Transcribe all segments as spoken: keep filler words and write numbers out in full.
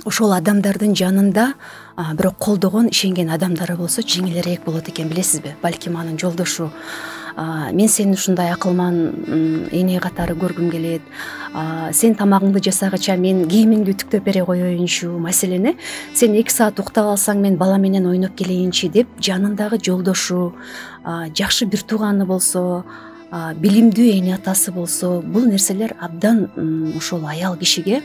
ошол адамдардын жанында бирок колдогон, ишенген адамдары болсо жеңилирээк болот экен, билесизби? Балким анын жолдошу мен сени ушундай акылман эне катары көргүм келет, сен тамагыңды жасагыча мен кийимиңди үтүктөп бере коеюнчу, маселен э сен эки саат уктап алсаң мен бала менен ойноп келейинчи деп жанындагы жолдошу, жакшы бир тууганы болсо, билимдүү эне атасы болсо, бул нерселер абдан ошол аял кишиге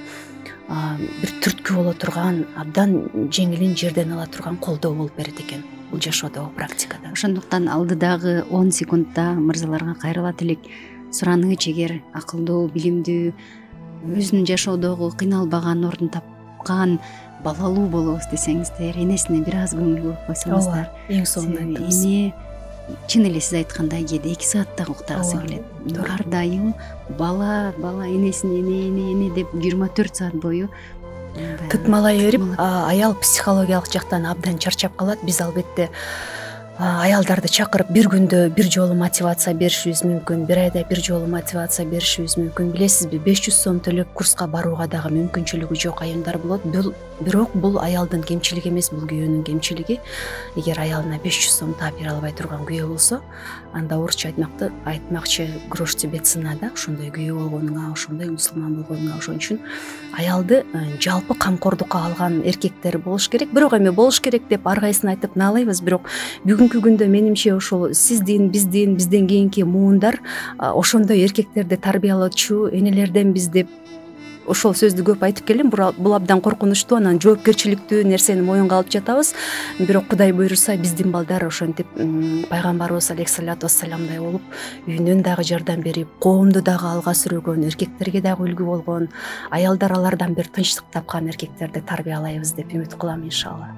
бир түрткү боло турган, абдан жеңилин жерден ала турган колдоо болуп берет экен бул жашоодогу практикада. Ошондуктан алдыдагы он секундда мырзаларга кайрылат элек. Сураныч, эгер акылдуу, билимдүү, өзүнүн жашоодогу кыйналбаган, ордун тапкан, балалуу болобуз десеңиздер, энесине бир аз көңүл буруп койсоңуздар. Эң сонун айттыңыз. Эне чын эле сиз айткандай кээде эки саатта уктагысы келет. Ар дайым бала, бала, энесин эне, эне, эне деп жыйырма төрт саат бою тытмалай берип, аял психологиялык жактан абдан чарчап калат. Биз албетте аялдарды чакырып бир күндө бир жолу мотивация беришибиз мүмкүн, бир айда бир жолу мотивация беришибиз мүмкүн. Билесизби, беш жүз сом төлөп курска барууга дагы мүмкүнчүлүгү жок айымдар болот. Бирок бул аялдын кемчилиги эмес, бул күйөөнүн кемчилиги. Эгер аялына беш жүз сом таап бере албай турган күйөө болсо, анда орусча айтмакты айтмакчы грош тебе цена да, ошондой күйөө болгонуңа, ошондой мусулман болгонуңа. Ошон үчүн аялды жалпы камкордукка алган эркектер болуш керек. Бирок эми болуш керек деп ар кайсын айтып наалайбыз, бирок бүгүнкү күндө менимче ошол сиздин, биздин, бизден кийинки муундар ошондой эркектерди тарбиялоочу энелерденбиз деп ошол сөздү көп айтып келем. Бул абдан коркунучтуу, анан жоопкерчиликтүү нерсени моюнга алып жатабыз. Бирок Кудай буйруса биздин балдар ошентип пайгамбарыбыз алейхиссалату вассаламдай болуп, үйүнөн дагы жардам берип, коомду дагы алга сүргөн, эркектерге дагы үлгү болгон, аялдар алардан бир тынчтык тапкан эркектерди тарбиялайбыз деп үмүт кылам, иншалла.